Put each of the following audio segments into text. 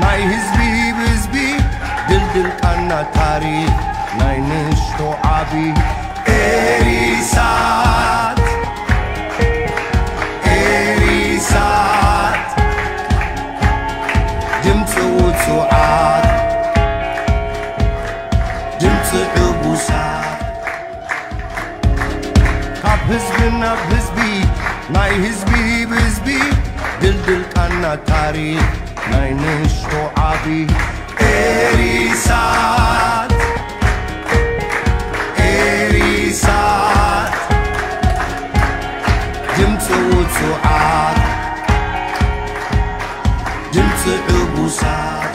ናይ ህዝቢ ብህዝቢ ድልድል ቃና ታሪኽ ናይ ንእሽቶ ዓቢ ኤሪሳት ኤሪሳት ድምፂ ውፁዓት ድምፂ ዕቡሳት ካብ ህዝቢ ናብ ህዝቢ ናይ ህዝቢ ብህዝቢ ድልድል ቃና ታሪኽ ናይ ንእሽቶ ዓቢ ኤሪሳት ኤሪሳት ድምፂ ውፁዓት ድምፂ ዕቡሳት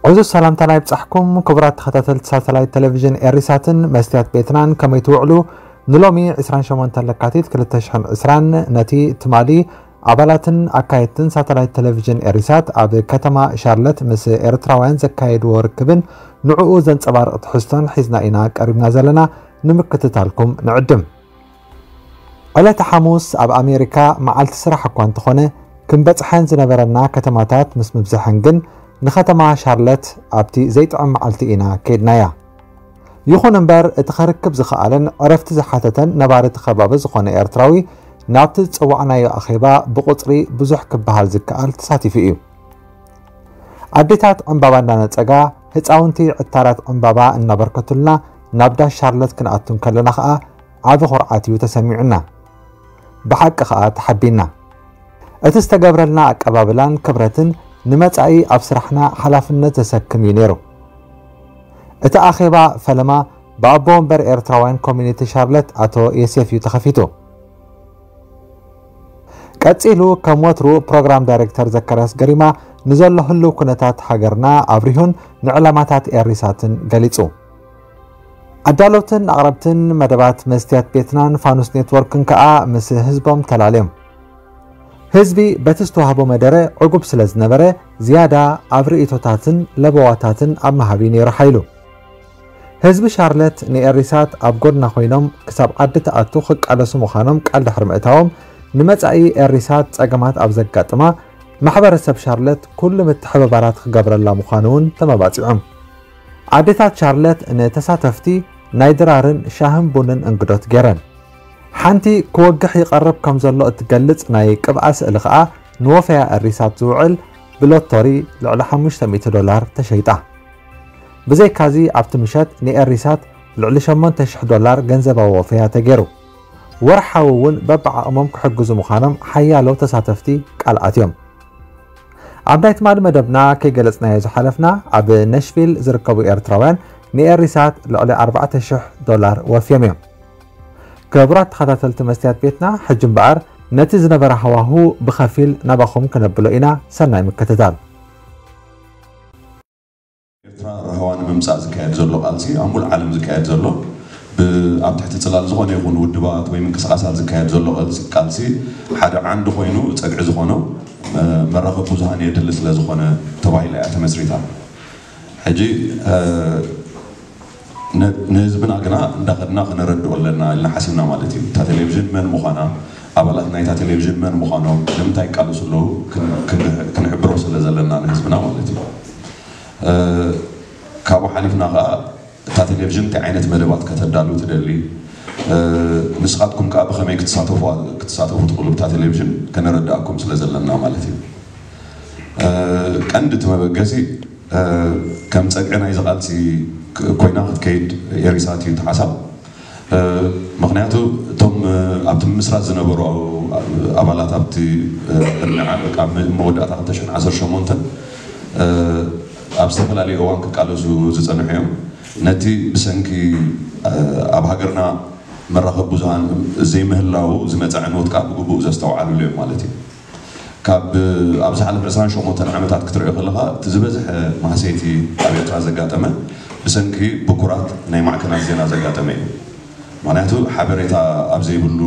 ዕዙዝ ሰላምታና ይብጻሕኩም ክቡራት ተኸታተልቲ ሳተላይት ቴሌቪዥን ኤሪሳትን መስትያት ቤትናን፣ ከመይ ትውዕሉ? ንሎሚ ዕስራን ሸሞንተን ለካቲት ክልተ ሽሕን ዕስራን ነቲ ትማሊ ኣባላትን ኣካየድትን ሳተላይት ቴሌቪዥን ኤሪሳት ኣብ ከተማ ሻርለት ምስ ኤርትራውያን ዘካየድዎ ርክብን ንዕኡ ዘንጸባርቕ ትሕዝቶን ሒዝና ኢና ቀሪብና ዘለና። ንምክትታልኩም ንዕድም። ዕለተ ሓሙስ ኣብ ኣሜሪካ መዓልቲ ስራሕ እኳ እንተኾነ፣ ክንበጽሐን ዝነበረና ከተማታት ምስ ምብዝሐን ግን፣ ንከተማ ሻርለት ኣብቲ ዘይጥዕም መዓልቲ ኢና ከይድናያ። ይኹን እምበር፣ እቲ ከርክብ ዝኸኣለን ዕረፍቲ ዝሓተተን ነባሪ እቲ ከባቢ ዝኾነ ኤርትራዊ፣ ናብቲ ዝጸዋዕናዮ ኣኼባ ብቑጽሪ ብዙሕ ክበሃል ዝከኣል ተሳቲፉ እዩ። ኣዴታት ዕምባባ እንዳነጸጋ፣ ህጻውንቲ ዕታራት ዕምባባ እናበርከቱልና ናብ ዳስ ሻርለት ክንኣቱ እንከለና ኸኣ ዓቢ ኹርዓት እዩ ተሰሚዑና። ብሓቂ ኸኣ ተሓቢና። እቲ ዝተገብረልና ኣቀባብላን ክብረትን ንመጻኢ ኣብ ስራሕና ሓላፍነት ዘሰክም እዩ ነይሩ። እቲ ኣኼባ ፈለማ ብኣቦ ወንበር ኤርትራውያን ኮሚኒቲ ሻርለት ኣቶ የሴፍ እዩ ተኸፊቱ። ቀጺሉ ከም ወትሩ ፕሮግራም ዳይሬክተር ዘካርያስ ገሪማ ንዘሎ ህልው ኩነታት ሃገርና ኣብሪሁን ንዕላማታት ኤሪሳትን ገሊጹ። ኣዳለውትን ኣቕረብትን መደባት መስትያት ቤትናን ፋኑስ ኔትወርክን ከኣ ምስ ህዝቦም ተላልዮም። ህዝቢ በቲ ዝተዋህቦ መደረ ዕጉብ ስለ ዝነበረ ዝያዳ ኣብ ርእይቶታትን ለበዋታትን ኣብ ምሃብ እዩ ነይሩ ሓይሉ። ህዝቢ ሻርለት ንኤሪሳት ኣብ ጎድና ኮይኖም ክሳብ ዓዲ ትኣቱ ክቃለሱ ምዃኖም ቃል ድሕሪ ምእታዎም፣ ንመጻኢ ኤሪሳት ጸገማት ኣብ ዘጋጥማ ማሕበረሰብ ሻርለት ኩሉ ምትሕብባራት ክገብረላ ምዃኑ እውን ተመባጺዖም። ኣዴታት ሻርለት ንተሳተፍቲ ናይ ድራርን ሻህን ቡንን እንግዶት ገይረን። ሓንቲ ክወግሕ ይቐርብ ከም ዘሎ እትገልጽ ናይ ቅብኣ ስእሊ ከኣ ንወፈያ ኤሪሳት ዝውዕል ብሎቶሪ ልዕሊ ሓሙሽተ ሚእቲ ዶላር ተሸይጣ። ብዘይካዚ ኣብቲ ምሸት ንኤሪሳት ልዕሊ ሸሞንተ ሽሕ ዶላር ገንዘባዊ ወፈያ ተገይሩ። ወርሓዊ እውን በብዓቕሞም ክሕግዙ ምዃኖም ሓያሎ ተሳተፍቲ ቃል ኣትዮም። ኣብ ናይ ትማሊ መደብና ከይገለጽናዮ ዝሓለፍና ኣብ ነሽቪል ዝርከቡ ኤርትራውያን ንኤሪሳት ልዕሊ ኣርባዕተ ሽሕ ዶላር ወፍዮም እዮም። ክቡራት ተኸታተልቲ መስትያት ቤትና፣ ሕጂ እምበኣር ነቲ ዝነበረ ሃዋሁ ብኸፊል ናባኹም ከነብሎ ኢና። ሰናይ ምክትታል። ኤርትራ ራህዋ ንምምጻእ ዝካየድ ዘሎ ቃልሲ ኣብ ሙሉእ ዓለም ዝካየድ ዘሎ ብ- ኣብ ትሕቲ ጽላል ዝኾነ ይኹን ውድባት ወይ ምንቅስቃሳት ዝካየድ ዘሎ ቃልሲ ሓደ ዓንዲ ኮይኑ ጸግዒ ዝኾኖ መራኸቢ ብዙሃን የድሊ ስለ ዝኾነ ተባሂላ እያ ተመስሪታ። ሕጂ ንህዝብና ግና እንዳኸድና ክነረድኦ ኣለና ኢልና ሓሲብና ማለት እዩ። እታ ቴሌቪዥን መን ምዃና፣ ኣባላት ናይታ ቴሌቪዥን መን ምዃኖም፣ ንምንታይ ይቃለሱ ኣለዉ ክንሕብሮ ስለ ዘለና ንህዝብና ማለት እዩ። ካብኡ ሓሊፍና ከዓ እታ ቴሌቪዥን እንታይ ዓይነት መደባት ከተዳሉ ትደሊ፣ ንስኻትኩም ከዓ ብኸመይ ክትሳተፉ ክትሳተፉ ትኽእሉ ብታ ቴሌቪዥን ከነረድኣኩም ስለ ዘለና ማለት እዩ። ቀንዲ እቲ መበገሲ ከም ፀግዒ ናይዚ ቃልሲ ኮይና ክትከይድ ኤሪሳት እዩ እቲ ሓሳብ። ምኽንያቱ እቶም ኣብቲ ምምስራት ዝነበሩ ኣባላት ኣብቲ ቅድሚ ኣብ መወዳእታ ክልተ ሽሕን ዓሰርተ ሸሞንተን ኣብ ዝተፈላለዩ እዋን ክቃለሱ ዝፀንሑ እዮም። ነቲ ብሰንኪ ኣብ ሃገርና መራኸቢ ብዙሃን ዘይምህላዉ ዝመፀ ዕንወት ከዓ ብግቡእ ዘስተውዓልሉ እዮም ማለት እዩ። ካብ ኣብ ዝሓለፈ ዕስራን ሸሞንተን ዓመታት ክትሪኦ ከለኻ እቲ ዝበዝሐ ማህሰይቲ ኣብ ኤርትራ ዘጋጠመ ብሰንኪ ብኩራት ናይ ማዕከናት ዜና ዘጋጠመ እዩ። ምኽንያቱ ሓበሬታ ኣብ ዘይብሉ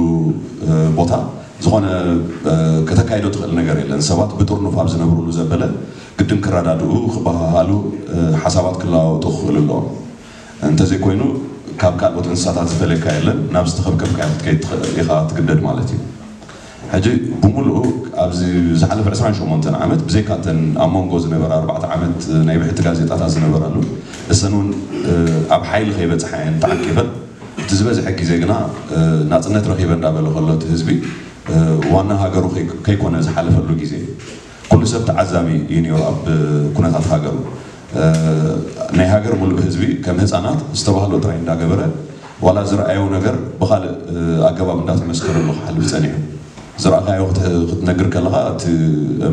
ቦታ ዝኾነ ከተካይዶ ትኽእል ነገር የለን። ሰባት ብጥርኑፍ ኣብ ዝነብሩሉ ዘበለ ግድን ክረዳድኡ፣ ክበሃሃሉ፣ ሓሳባት ክለዋወጡ ክኽእሉ ኣለዎም። እንተዘይኮይኑ ካብ ካልኦት እንስሳታት ዝፈለካ የለን። ናብ ዝተኸብከብካዮ ክትከይድ ትኽእል ኢኻ፣ ትግደድ ማለት እዩ። ሕጂ ብምሉኡ ኣብዚ ዝሓለፈ ዕስራን ሸሞንተን ዓመት ብዘይካተን ኣብ መንጎ ዝነበረ ኣርባዕተ ዓመት ናይ ብሕቲ ጋዜጣታት ዝነበራሉ፣ እሰን እውን ኣብ ሓይሊ ከይበፅሓ እየን ተዓቂበን። እቲ ዝበዝሐ ግዜ ግና ናፅነት ረኺበ እንዳበለ ከሎ እቲ ህዝቢ ዋና ሃገሩ ከይኮነ ዝሓለፈሉ ግዜ፣ ኩሉ ሰብ ተዓዛቢ እዩ ነይሩ ኣብ ኩነታት ሃገሩ። ናይ ሃገር ሙሉእ ህዝቢ ከም ህፃናት ዝተባህሎ ጥራይ እንዳገበረ፣ ዋላ ዝረኣዮ ነገር ብኻልእ ኣገባብ እንዳተመስከረሉ ክሓልፍ ፀኒሑ። ዝረኣኻዮ ክትነግር ከለኻ እቲ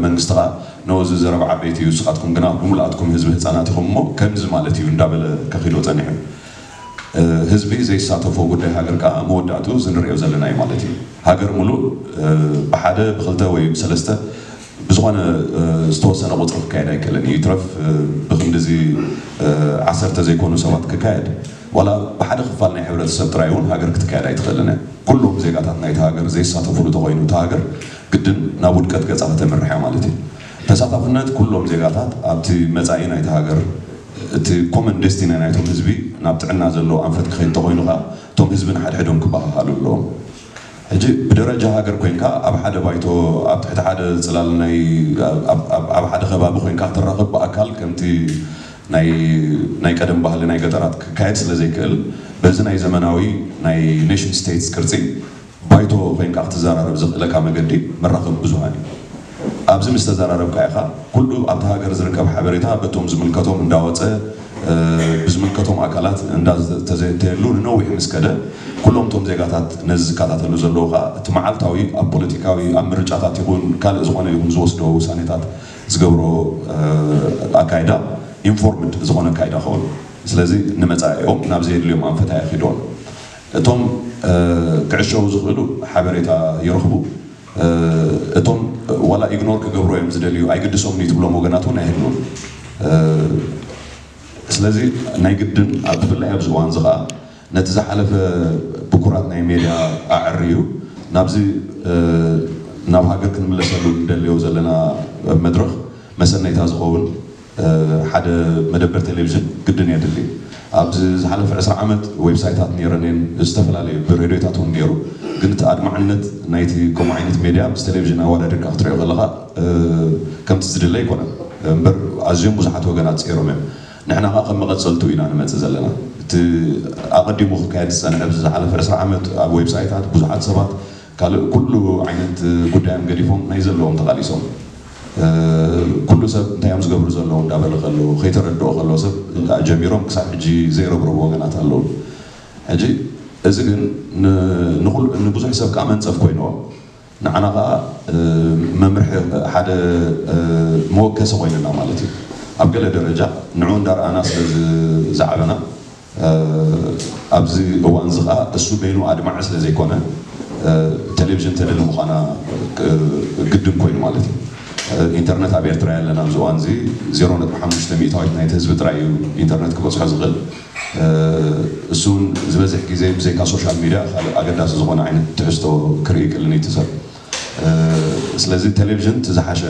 መንግስቲ ኸዓ፣ ኖ፣ እዚ ዘረባ ዓበይቲ እዩ፣ ንስኻትኩም ግና ብምልኣትኩም ህዝቢ ህፃናት ኢኹም እሞ ከምዚ ማለት እዩ እንዳበለ ከኺዶ ፀኒሑ። ህዝቢ ዘይሳተፎ ጉዳይ ሃገር ከዓ መወዳእቱ ዝንሪኦ ዘለና እዩ ማለት እዩ። ሃገር ሙሉእ ብሓደ ብክልተ ወይ ብሰለስተ ብዝኾነ ዝተወሰነ ቁፅሪ ክካየድ ኣይክእልን እዩ። ይትረፍ ብክንድዚ ዓሰርተ ዘይኮኑ ሰባት ክካየድ፣ ዋላ ብሓደ ክፋል ናይ ሕብረተሰብ ጥራይ እውን ሃገር ክትካየድ ኣይትኽእልን እያ። ኩሎም ዜጋታት ናይቲ ሃገር ዘይሳተፉሉ ተኾይኑ እታ ሃገር ግድን ናብ ውድቀት ገፃ ከተምርሕ እያ ማለት እዩ። ተሳታፍነት ኩሎም ዜጋታት ኣብቲ መፃኢ ናይቲ ሃገር፣ እቲ ኮመን ዴስቲኒ ናይቶም ህዝቢ ናብ ጥዕና ዘለዎ ኣንፈት ክኸይድ ተኾይኑ ከዓ እቶም ህዝቢ ንሓድሕዶም ክበሃሃሉ ኣለዎም። ሕጂ ብደረጃ ሃገር ኮይንካ ኣብ ሓደ ባይቶ ኣብ ትሕቲ ሓደ ፅላል ናይ ኣብ ሓደ ከባቢ ኮይንካ ክትራኸብ ብኣካል ከምቲ ናይ ናይ ቀደም ባህሊ ናይ ገጠራት ክካየድ ስለ ዘይክእል፣ በዚ ናይ ዘመናዊ ናይ ኔሽን ስቴትስ ቅርፂ ባይቶ ኮይንካ ክትዘራረብ ዘኽእለካ መገዲ መራኸቢ ብዙሃን እዩ። ኣብዚ ምስ ተዘራረብካ ኢኻ ኩሉ ኣብቲ ሃገር ዝርከብ ሓበሬታ በቶም ዝምልከቶም እንዳወፀ ብዝምልከቶም ኣካላት እንዳተዘተየሉ ንነዊሕ ምስ ከደ፣ ኩሎም እቶም ዜጋታት ነዚ ዝከታተሉ ዘለዉ ከዓ እቲ መዓልታዊ ኣብ ፖለቲካዊ ኣብ ምርጫታት ይኹን ካልእ ዝኾነ ይኹን ዝወስዶ ውሳኔታት ዝገብሮ ኣካይዳ ኢንፎርምድ ዝኾነ ኣካይዳ ኸውን። ስለዚ ንመፃኢኦም ናብ ዘየድልዮም ኣንፈት ኣየኺድዎም። እቶም ክዕሸዉ ዝኽእሉ ሓበሬታ ይረኽቡ። እቶም ዋላ ኢግኖር ክገብሩ እዮም ዝደልዩ፣ ኣይግድሶምን እዩ ትብሎም ወገናት እውን ኣይህልውን። ስለዚ ናይ ግድን ኣብ ብፍላይ ኣብዚ እዋን እዚ ከዓ ነቲ ዝሓለፈ ብኩራት ናይ ሜድያ ኣዕርዩ ናብዚ ናብ ሃገር ክንምለሰሉ እንደልዮ ዘለና መድረኽ መሰነይታ ዝኸውን ሓደ መደበር ቴሌቪዥን ግድን የድሊ። ኣብዚ ዝሓለፈ ዕስራ ዓመት ዌብሳይታት ነይረን እየን፣ ዝተፈላለዩ ብሬድዮታት እውን ነይሩ። ግን እቲ ኣድማዕነት ናይቲ ከምኡ ዓይነት ሜድያ ምስ ቴሌቪዥን ኣወዳዲርካ ክትሪኦ ከለኻ ከምቲ ዝድለ ኣይኮነን። እምበር ኣዝዮም ብዙሓት ወገናት ፀይሮም እዮም። ንሕና ከዓ ከም መቐፀልቱ ኢና ንመፅእ ዘለና። እቲ ኣቐዲሙ ክካየድ ዝፀንሐ ኣብዚ ዝሓለፈ ዕስራ ዓመት ኣብ ዌብሳይታት ብዙሓት ሰባት ካልእ ኩሉ ዓይነት ጉዳዮም ገዲፎም ናይ ዘለዎም ተቓሊሶም፣ ኩሉ ሰብ እንታይ እዮም ዝገብሩ ዘለዉ እንዳበለ ከሎ፣ ከይተረድኦ ከሎ ሰብ ጀሚሮም ክሳብ ሕጂ ዘይረብረቡ ወገናት ኣለዉ። ሕጂ እዚ ግን ንብዙሕ ሰብ ከዓ መንፀፍ ኮይንዎ፣ ንዓና ከዓ መምርሒ ሓደ መወከሲ ኮይንና ማለት እዩ። ኣብ ገለ ደረጃ ንዑ እንዳረኣና ስለ ዝዓበና ኣብዚ እዋን እዚ ከዓ እሱ በይኑ ኣድማዒ ስለ ዘይኮነ ቴሌቪዥን ተደሊ ምዃና ግድን ኮይኑ ማለት እዩ። ኢንተርነት ኣብ ኤርትራ የለን። ኣብዚ እዋን እዚ ዜሮ ነጥቢ ሓሙሽተ ሚእታዊት ናይቲ ህዝቢ ጥራይ እዩ ኢንተርነት ክበፅሖ ዝኽእል። እሱ እውን ዝበዝሕ ግዜ ብዘይካ ሶሻል ሚድያ ካልእ ኣገዳሲ ዝኾነ ዓይነት ትሕዝቶ ክርኢ ይክእልን እዩ እቲ ሰብ። ስለዚ ቴሌቪዥን እቲ ዝሓሸ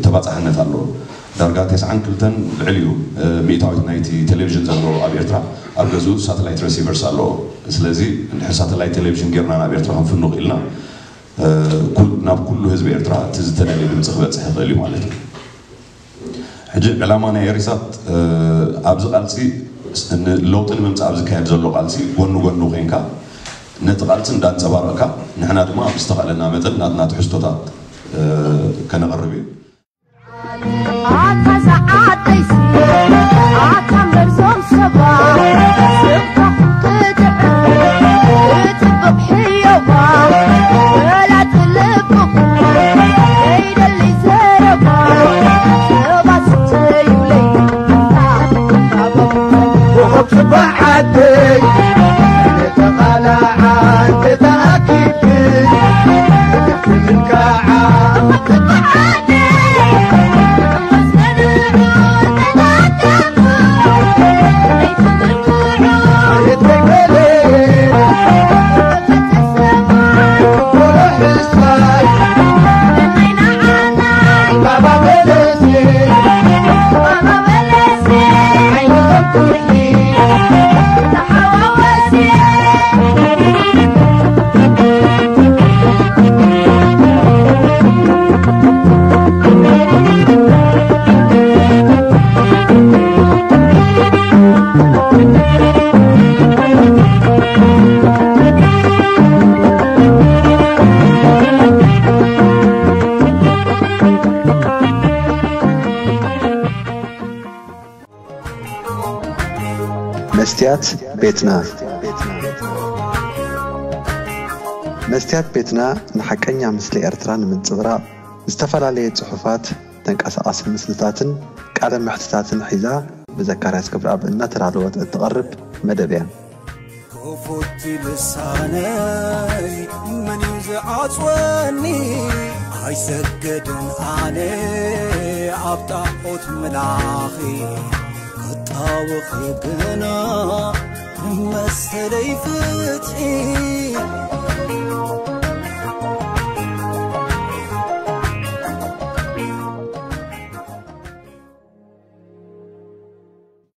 ተባፃሕነት ኣለዎ። ዳርጋ ተስዓን ክልተን ልዕሊኡ ሚእታዊት ናይቲ ቴሌቪዥን ዘለዎ ኣብ ኤርትራ ኣብ ገዝኡ ሳተላይት ረሲቨርስ ኣለዎ። ስለዚ እንድሕር ሳተላይት ቴሌቪዥን ጌርና ናብ ኤርትራ ክንፍኑ ክኢልና ናብ ኩሉ ህዝቢ ኤርትራ እቲ ዝተደልየ ድምፂ ክበፅሕ ይኽእል እዩ ማለት እዩ። ሕጂ ዕላማ ናይ ኤሪሳት ኣብዚ ቃልሲ ለውጢ ንምምፃእ ኣብ ዝካየድ ዘሎ ቃልሲ ጎኒ ጎኑ ኮይንካ ነቲ ቃልሲ እንዳንፀባረቕካ ንሕና ድማ ብዝተኻእለና መጠን ናትና ትሕዝቶታት ከነቕርብ እዩ። ኣታ ሰዓተይሲ ኣታ መርዞም ሰባ ስብካ ክትጥዕም ክትጥብቕ ሕዮባ ወላ ትልብኹ ዘይደሊ ዘረባ ሰባ ስተዩለይ ወኸብ ጽባሕ ዓደይ ተቓላዓ ተተኣኪብ መስትያት ቤትና። መስትያት ቤትና ንሓቀኛ ምስሊ ኤርትራ ንምንጽብራቕ ዝተፈላለየ ጽሑፋት፣ ተንቀሳቓሲ ምስልታትን ቃለ መሕትታትን ሒዛ ብዘካርያስ ክብረኣብ እናተዳለወት እትቐርብ መደብ እያ። ክፉት ልሳነይ መን እዩ ዝዓጽወኒ? ኣይሰግድን ኣነ ኣብ ጣዖት ምላኺ ክጣወኺ ግና መሰለይ ፍትሒ